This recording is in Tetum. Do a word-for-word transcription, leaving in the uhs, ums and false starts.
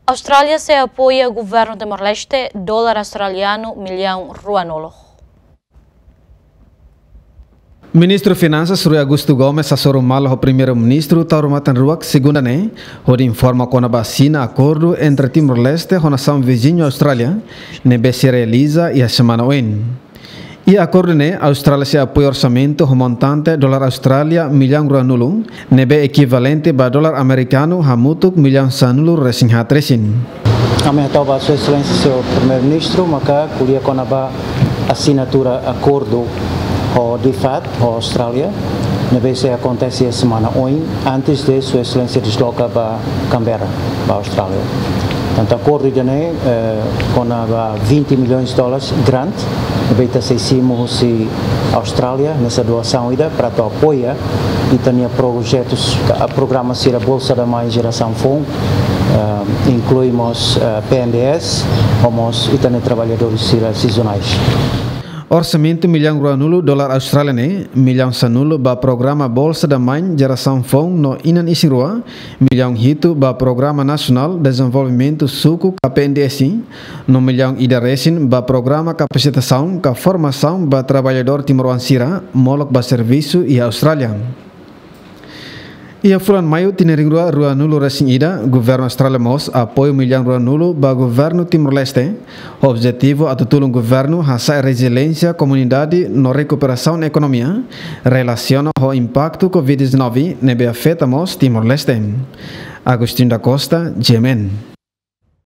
Austrália sei apoia governu Timor-Leste dolar australianu millaun ruanulu. Ministru Finansas Rui Augusto Gomes hasoru malu ho Primeiru-Ministru Taur Matan Ruak, segunda ne'e, hodi informa kona-ba asina akordu entre Timor-Leste ho nasaun viziñu Austrália, ne'ebé sei realiza iha semana oin. Iha akordu ne'e, Austrália sei apoia orsamentu ho montante dolar Austrália millaun ruanulu, ne'ebé ekivalente ba dolar amerikanu hamutuk millaun sanulu resin haat resin. Ami hato'o ba Sua Exelénsia Señór Primeiru-Ministru, maka ko'alia kona-ba asinatura akordu ho DFAT, ho Austrália, ne'ebé sei akontese semana oin, antes de Sua Exelénsia desloka ba Canberra, ba Austrália. Portantu, akordu ida-ne'e, eh, kona-ba vinte milhões de dólares grant, ne'ebé ita sei simu husi Austrália, hanesan doasaun ida, para atu apoia ita-nia projetus, ka, programa sira Bolsa da Mãe Geração Foun, eh, inklui mós, eh, P N D S, ho mós ita-nia traballadór sira sezonais. Orsamentu millaun ruanulu dolar Austrália ne'e, millaun sanulu ba programa Bolsa da Mãe Geração Foun no inan isin-rua, millaun hitu ba Programa Nasionál Dezenvolvimentu Suku ka P N D S, no millaun ida resin ba programa kapasitasaun ka formasaun ba traballadór timoroan sira molok ba servisu iha Austrália. Iha fulan Maiu tinan rihun rua ruanulu resin ida, Governu Austrália mós apoiu millaun ruanulu ba Governu Timor-Leste, ho objetivu atu tulun governu hasa'e reziliénsia komunidade no rekuperasaun ekonomia, relasiona ho impaktu covid dezanove ne'ebé afeta mós Timor-Leste. Agostinho da Costa, G M N.